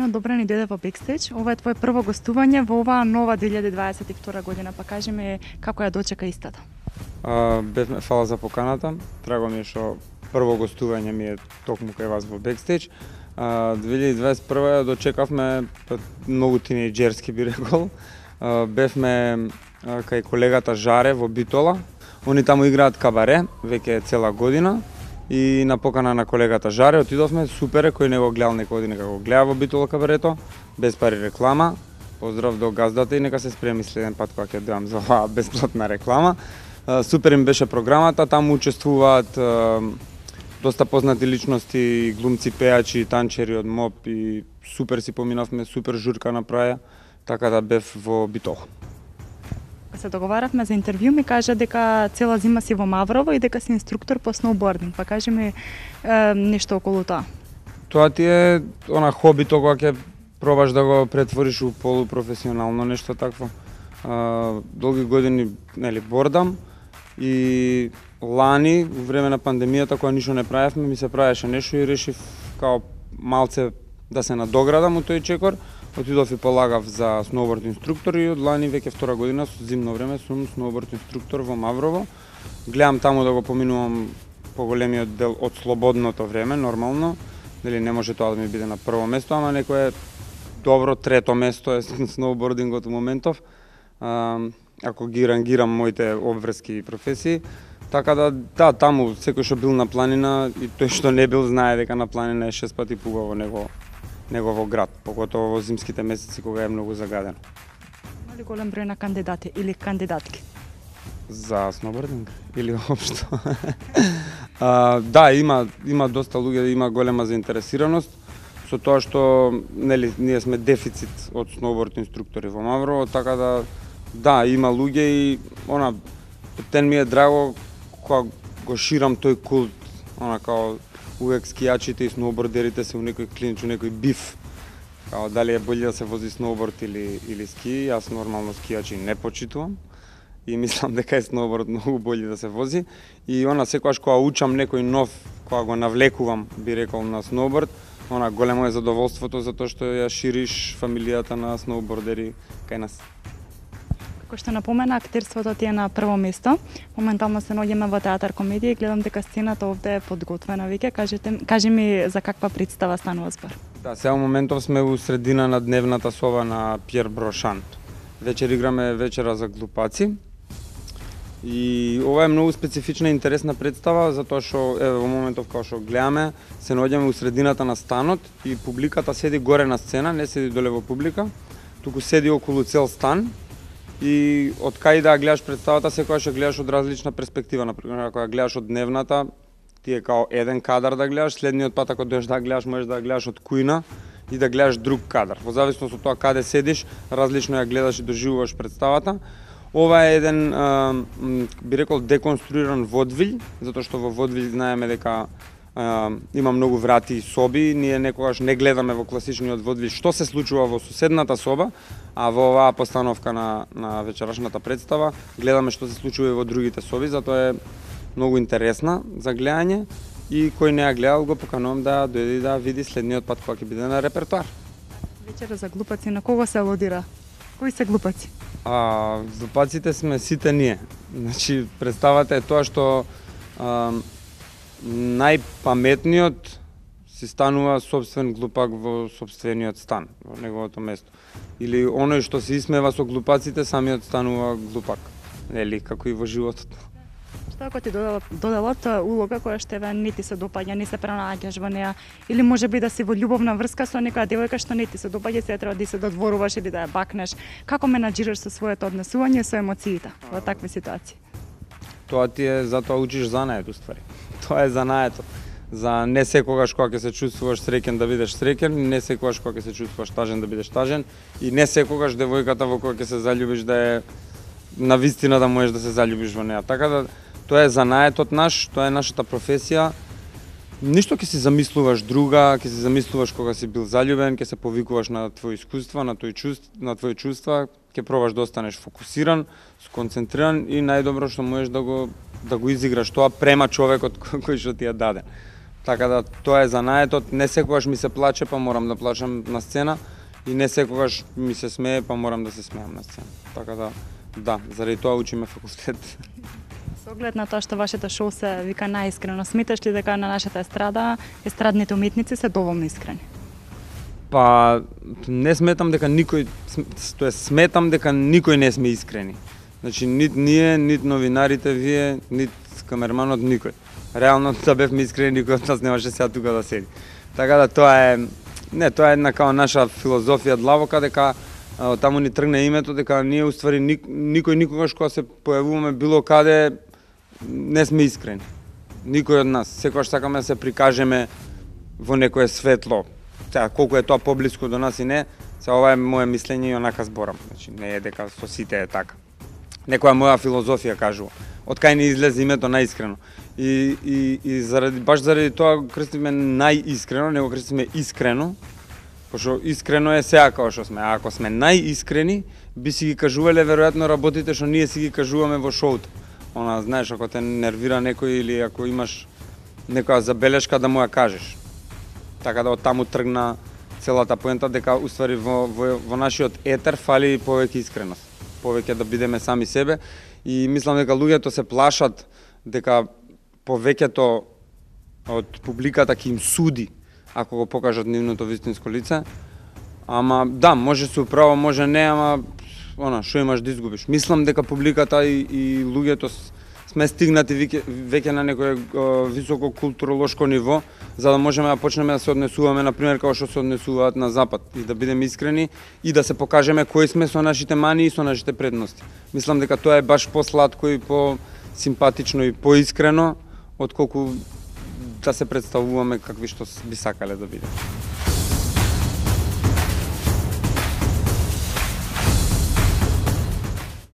Сино, добро ни дојде во Бекстејдж. Ова е твое прво гостување во оваа нова 2022 година. Па кажи ми како ја дочека истата. Бевме, фала за поканата. Драго ми е што прво гостување ми е токму кај вас во Бекстејдж. 2021 ја дочекавме многу тинејџерски би рекол. Бевме кај колегата Жаре во Битола. Они таму играат кабаре веќе цела година. И на покана на колегата Жаре отидовме, супер е, кој не го гледал некој година како го гледа во Битола кабарето, без пари реклама. Поздрав до газдата и нека се спреми следен пат кога ќе дојам за оваа бесплатна реклама. Супер им беше програмата, таму учествуваат доста познати личности, глумци, пејачи, танчери од МОП и супер си поминавме, супер журка направија, така да бев во Битола. Се договаравме за интервју, ми кажа дека цела зима си во Маврово и дека си инструктор по сноубординг. Па кажи ми нешто околу тоа. Тоа ти е она хобито кога ќе пробаш да го претвориш у полупрофесионално нешто такво. Долги години бордам и лани во време на пандемијата кога ништо не правевме, ми се правеше нешто и решив као малце да се надоградам у тој чекор. Отидов и полагав за сноуборд инструктор и од лани веќе втора година со зимно време сум сноуборд инструктор во Маврово. Гледам таму да го поминувам поголемиот дел од слободното време, нормално. Нели не може тоа да ми биде на прво место, ама некое добро трето место е сноубордингот во моментов. Ако ги рангирам моите обврски и професии, така да, таму секој што бил на планина и тој што не бил знае дека на планина е 6 пати пугаво него во град, поготово во зимските месеци кога е многу загадено. Има ли голем број на кандидати или кандидатки? За сноубординг или општо? Да, има доста луѓе, има голема заинтересираност со тоа што ние сме дефицит од сноуборд инструктори во Маврово, така да, има луѓе и тен ми е драго кога го ширам тој култ, као увек скијачите и сноубордерите се у некој клинч, у некој биф. Као дали е болje да се вози сноуборд или ски, јас нормално скијачи не почитувам и мислам дека е сноуборд многу болje да се вози. И секогаш кога учам некој нов, кога го навлекувам, би рекол, на сноуборд, големо е задоволството затоа што ја шириш фамилијата на сноубордери кај нас. Како што напомена, актерството ти е на прво место. Моментално се наоѓаме во театар комедија и гледам дека сцената овде е подготвена веќе. Кажи ми за каква представа станува збор. Да, сега во моментов сме у средина на дневната соба на Пјер Брошан. Вечер играме вечера за глупаци. И ова е многу специфична и интересна представа затоа што во моментов кога што гледаме се наоѓаме у средината на станот и публиката седи горе на сцена, не седи доле во публика, туку седи околу цел стан. И од кај да гледаш представата, секогаш ја гледаш од различна перспектива. Например, ако ја гледаш од дневната, ти е као еден кадар да гледаш, следниот пат ако дојдеш да гледаш, можеш да гледаш од кујна и да гледаш друг кадар. Во зависност од тоа каде седиш, различно ја гледаш и доживуваш представата. Ова е еден, би рекол, деконструиран водвилј, затоа што во водвилј знаеме дека има многу врати и соби, ние некогаш не гледаме во класичниот водвилј што се случува во соседната соба, а во оваа постановка на вечерашната представа гледаме што се случува и во другите соби, затоа е многу интересна за гледање и кој не ја гледал го поканувам да дојде да види следниот пат кога ќе биде на репертоар. Вечера за глупаци на кого се алудира? Кои се глупаци? Глупаците сме сите ние. Значи, представата е тоа што најпаметниот си станува собствен глупак во собствениот стан, во неговото место. Или оној што се исмева со глупаците, самиот станува глупак. Нели, како и во животот. Што ако ти доделат улога која што не ти се допаѓа, не се пронаѓаш во неа, или можеби да си во љубовна врска со некоја девојка што не ти се допаѓа, се треба да се додворуваш или да ја бакнеш. Како менаџираш со своето однесување со емоциите во такви ситуации? Тоа ти е, затоа учиш занаед уствари. Тоа е занаето. За не секогаш кога ќе се чувствуваш среќен да бидеш среќен, не секогаш кога ќе се чувствуваш тажен да бидеш тажен и не секогаш девојката во која ќе се заљубиш да е на вистина да можеш да се заљубиш во неа. Така да тоа е занаетот наш, тоа е нашата професија. Ништо ќе си замислуваш друга, ќе си замислуваш кога си бил заљубен, ќе се повикуваш на твои искуства, на твои чувства, ќе пробаш да останеш фокусиран, сконцентриран и најдобро што можеш да го изиграш тоа према човекот кој што ти е даден. Така да тоа е занаетот, не секогаш ми се плаче па морам да плачам на сцена и не секогаш ми се смее па морам да се смеам на сцена. Така да, заради тоа учиме факултет. Со оглед на тоа што вашето шоу се вика најискрено, сметаш ли дека на нашата естрада естрадните уметници се доволно искрени? Па не сметам дека никој, сметам дека никој не сме искрени. Значи нит ние, нит новинарите вие, нит камерманот, никој. Реално да бевме искрени, никој од нас немаше сега тука да седи. Така да тоа е една као наша филозофија длабока, дека таму ни тргне името, дека ние уствари никој никогаш кога се појавуваме било каде не сме искрени. Никој од нас. Секогаш сакаме да се прикажеме во некое светло. Сега колку е тоа поблиску до нас и не, сега ова е моje мислење и онака зборам. Значи не е дека со сите е така. Некоја моја филозофија кажува. Од кај ни излезе името најискрено. И баш заради тоа крстиме најискрено, него крстиме искрено, пошто искрено е сега како што сме. А ако сме најискрени, би си ги кажувале веројатно работите што ние си ги кажуваме во шоуто. Она, знаеш, ако те нервира некој или ако имаш некоја забелешка да му ја кажеш. Така да од таму тргна целата поента дека уствари во нашиот етер фали повеќе искреност. Повеќе да бидеме сами себе и мислам дека луѓето се плашат дека повеќето од публиката ќе им суди ако го покажат нивното вистинско лице. Ама да, може се управо, може не, ама што имаш да изгубиш. Мислам дека публиката и луѓето сме стигнати веќе на некое високо културолошко ниво, за да можеме да почнеме да се однесуваме, например, како што се однесуваат на Запад, и да бидеме искрени и да се покажеме кои сме со нашите мани и со нашите предности. Мислам дека тоа е баш посладко и по-симпатично и поискрено, отколку да се представуваме какви што би сакале да бидеме.